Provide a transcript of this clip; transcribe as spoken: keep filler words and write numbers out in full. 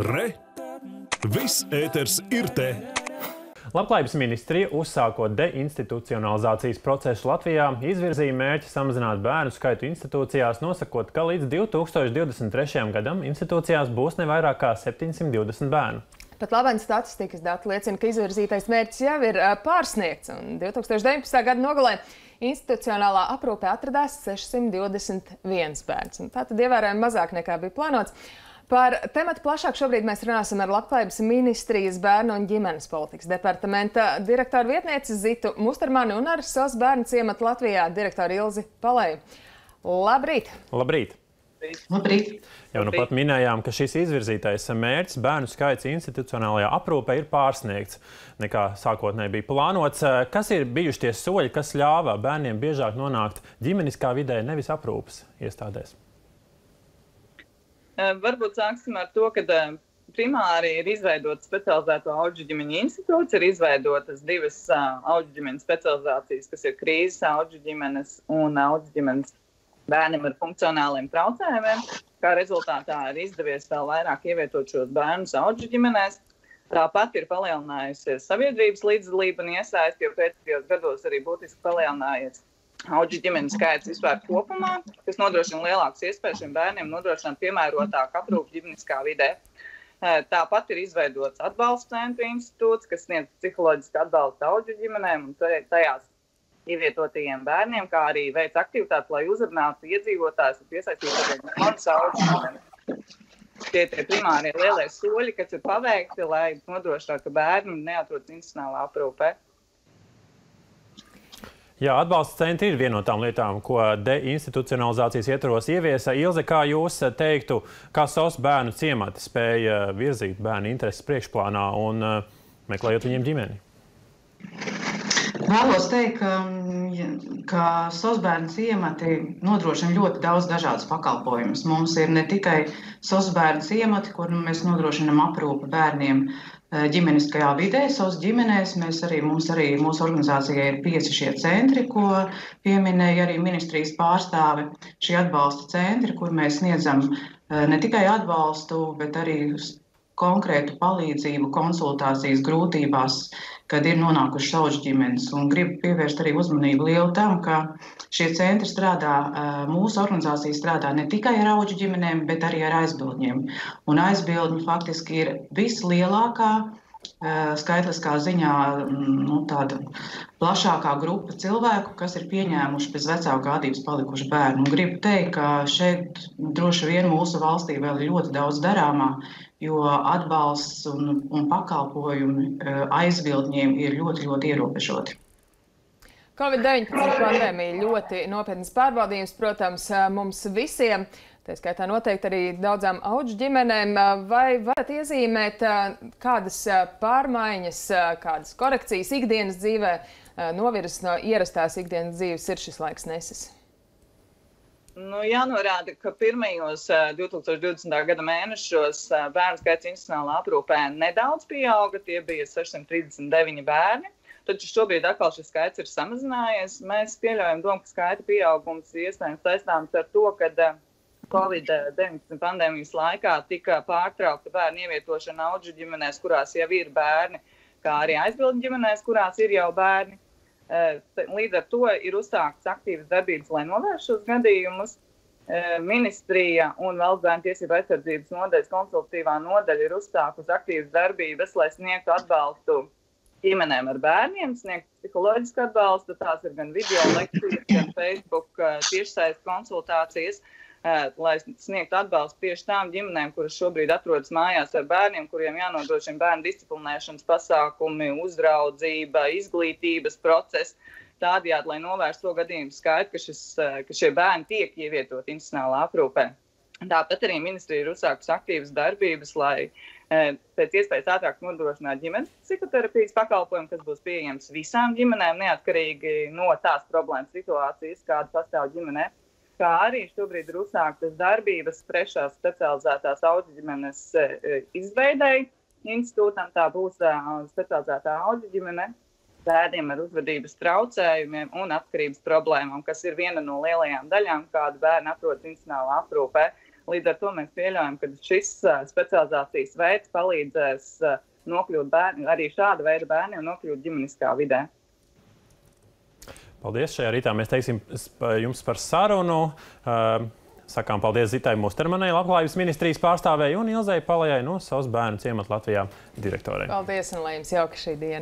Re! Viss ēters ir te! Labklājības ministrija, uzsākot deinstitucionalizācijas procesu Latvijā, izvirzīja mērķi samazināt bērnu skaitu institūcijās, nosakot, ka līdz divi tūkstoši divdesmit trešajam gadam institūcijās būs ne vairāk kā septiņsimt divdesmit bērnu. Pat labāk statistikas dati liecina, ka izvirzītais mērķis jau ir pārsniegts, un divi tūkstoši deviņpadsmitā gada nogalē institucionālā aprūpē atradās sešsimt divdesmit viens bērns. Tātad ievērojami mazāk nekā bija plānots. Par tematu plašāk šobrīd mēs runāsim ar Labklājības ministrijas bērnu un ģimenes politikas departamenta direktoru vietnieci Zitu Mustermani un ar SOS bērnu ciematu Latvijā direktoru Ilzi Palēju. Labrīt! Labrīt! Labrīt! Jau nu pat minējām, ka šis izvirzītais mērķis bērnu skaits institucionālajā aprūpē ir pārsniegts, nekā sākotnēji bija plānots. Kas ir bijuši tie soļi, kas ļāva bērniem biežāk nonākt ģimeniskā vidē, nevis aprūpes iestādēs? Varbūt sāksim ar to, ka primāri ir izveidota specializēto audžu ģimeņu institūts, ir izveidotas divas audžu ģimeņu specializācijas, kas ir krīzes audžu ģimenes un audžu ģimenes bērniem ar funkcionāliem traucējumiem. Kā rezultātā ir izdevies vēl vairāk ievietot šos bērnus audžu ģimenēs. Tāpat ir palielinājusies sabiedrības līdzdalība un iesaisti, jo pēdējos gados arī būtiski palielinājies audžu ģimeņu skaits vispār kopumā, kas nodrošina lielākas iespējas šiem bērniem nodrošināt piemērotāku aprūpi ģimeniskā vidē. Tāpat ir izveidots atbalsta centru institūts, kas sniedz psiholoģisku atbalstu audžu ģimenēm un tajās ievietotajiem bērniem, kā arī veic aktivitātes, lai uzrunātu iedzīvotājus un piesaistītu jaunas audžu ģimenes. Tie ir primārie lielie soļi, kas ir paveikti, lai nodrošinātu, ka bērni neatrodas institucionālā aprūpē. Jā, atbalsta centri ir viena no tām lietām, ko deinstitucionalizācijas ietvaros ieviesa. Ilze, kā jūs teiktu, kā SOS bērnu ciemati spēja virzīt bērnu intereses priekšplānā un meklējot viņiem ģimeni? Vēlos teikt, ka, ka SOS bērnu ciemati nodrošina ļoti daudz dažādas pakalpojumus. Mums ir ne tikai SOS bērnu ciemati, kur mēs nodrošinam aprūpi bērniem ģimeniskajā vidē, SOS ģimenēs. Mēs arī, mums arī mūsu organizācijai ir pieci šie centri, ko pieminēja arī ministrijas pārstāve. Šie atbalsta centri, kur mēs sniedzam ne tikai atbalstu, bet arī konkrētu palīdzību, konsultācijas grūtībās, kad ir nonākušas audžu ģimenes. Un gribu pievērst arī uzmanību lielu tam, ka šie centri strādā, mūsu organizācija strādā ne tikai ar audžu ģimenēm, bet arī ar aizbildņiem. Un aizbildņi faktiski ir vislielākā skaitliskā ziņā nu, tāda plašākā grupa cilvēku, kas ir pieņēmuši bez vecāku gādības palikuši bērni. Un gribu teikt, ka šeit droši vien mūsu valstī vēl ir ļoti daudz darāmā, jo atbalsts un, un pakalpojumi aizbildņiem ir ļoti, ļoti ierobežoti. Covid deviņpadsmit pandēmija ļoti nopietnas pārbaudījums, protams, mums visiem. Tā skaitā noteikti arī daudzām audžu ģimenēm. Vai varat iezīmēt, kādas pārmaiņas, kādas korekcijas ikdienas dzīvē novirzes no ierastās ikdienas dzīves ir šis laiks nesis? Nu, jānorāda, ka pirmajos divi tūkstoši divdesmitā gada mēnešos bērnu skaits institucionālā aprūpē nedaudz pieauga, tie bija sešsimt trīsdesmit deviņi bērni. Taču šobrīd atkal šis skaits ir samazinājies. Mēs pieļaujam domu, ka skaita pieaugums iespējams saistāms ar to, ka Covid deviņpadsmit pandēmijas laikā tika pārtraukta bērnu ievietošana audžu ģimenēs, kurās jau ir bērni, kā arī aizbildņu ģimenēs, kurās ir jau bērni. Līdz ar to ir uzsāktas aktīvas darbības, lai novērstu šos gadījumus. Ministrija un Valsts bērnu tiesību aizsardzības nodaļas konsultatīvā nodaļa ir uzsākusi aktīvas darbības, lai sniegtu atbalstu ģimenēm ar bērniem, sniegtu psiholoģisku atbalstu. Tās ir gan video lekcijas, gan Facebook tiešsaistes konsultācijas, lai sniegtu atbalstu tieši tām ģimenēm, kuras šobrīd atrodas mājās ar bērniem, kuriem jānodrošina bērnu disciplinēšanas pasākumi, uzraudzība, izglītības process, tādējādi, lai novērstu to gadījumu skaitu, ka, šis, ka šie bērni tiek ievietoti institucionālā aprūpē. Tāpat arī ministrija ir uzsākusi aktīvas darbības, lai pēc iespējas ātrāk nodrošinātu ģimenes psihoterapijas pakalpojumu, kas būs pieejams visām ģimenēm, neatkarīgi no tās problēmas situācijas, kāda pastāv ģimenē. Kā arī šobrīd ir uzsāktas darbības trešās specializētās audžu ģimenes izveidei institūtam. Tā būs specializētā audžu ģimene bērniem ar uzvedības traucējumiem un atkarības problēmām, kas ir viena no lielajām daļām, kāda bērni atrodas institucionālā aprūpē. Līdz ar to mēs pieļaujam, ka šis specializācijas veids palīdzēs nokļūt bērni, arī šāda veida bērniem nokļūt ģimeniskā vidē. Paldies! Šajā rītā mēs teiksim jums par sarunu. Sakām paldies Zitai Mustermanai, Labklājības ministrijas pārstāvēji, un Ilzei Palejai no Savas bērnu ciemata Latvijā direktorei. Paldies, un lai jums jauka šī diena!